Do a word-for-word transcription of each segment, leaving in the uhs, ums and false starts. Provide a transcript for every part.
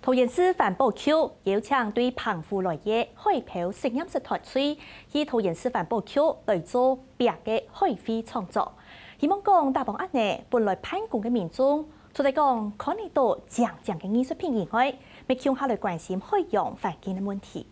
桃園市環保局邀請對澎湖來个海漂實驗室團隊，去桃園市環保局來做壁个海廢創作。希望講打幫恁呢，本來辦公个民眾，除了講看得到靚靚个藝術品以外，乜共下來關心海洋環境个問題。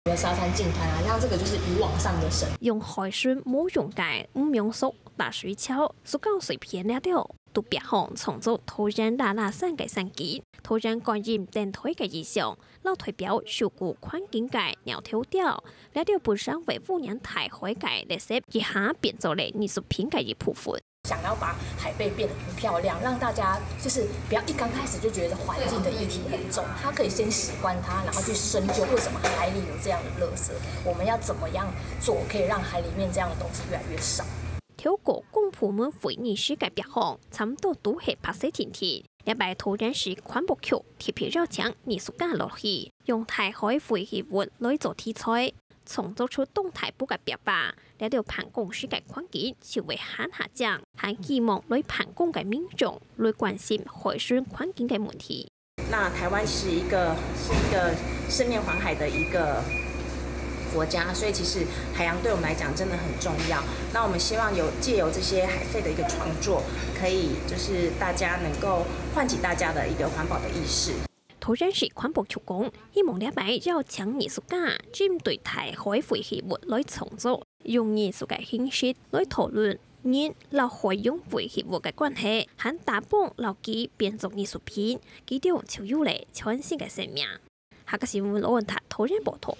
的沙灘淨灘啊，像這個就是漁網上的神。用海參模樣个五芒索、大水樵、塑膠碎片這兜，都壁項創造桃園拉拉山个山景。桃園觀音燈台个意象，摎代表守護環境个鳥頭鳥，這兜本身會污染大海个垃圾，一下變做了藝術品个一部分。 想要把海贝变得很漂亮，让大家就是不要一刚开始就觉得环境的议题很重，他可以先喜欢它，然后去深究为什么海里有这样的垃圾，我们要怎么样做可以让海里面这样的东西越来越少。透過公部門會議室个壁項，差毋多都係白色定定。這擺桃園市環保局特別邀請藝術家落去，用大海廢棄物來做題材，創作出當大部个壁畫。 這兜辦公室个環境就會還較靚，還希望來辦公个民眾來關心海洋環境个問題。那台灣是一個是一個四面環海的一個國家，所以其實海洋對我們來講真的很重要。那我們希望有藉由這些海廢的一個創作，可以就是大家能夠喚起大家的一個環保的意識。 桃園市環保局講，希望這擺邀請藝術家針對大海廢棄物來創作，用藝術个形式來討論人摎海洋廢棄物个關係，還打幫摎佢變做藝術品，佢兜就有了全新个生命。客家新聞羅文達桃園報導。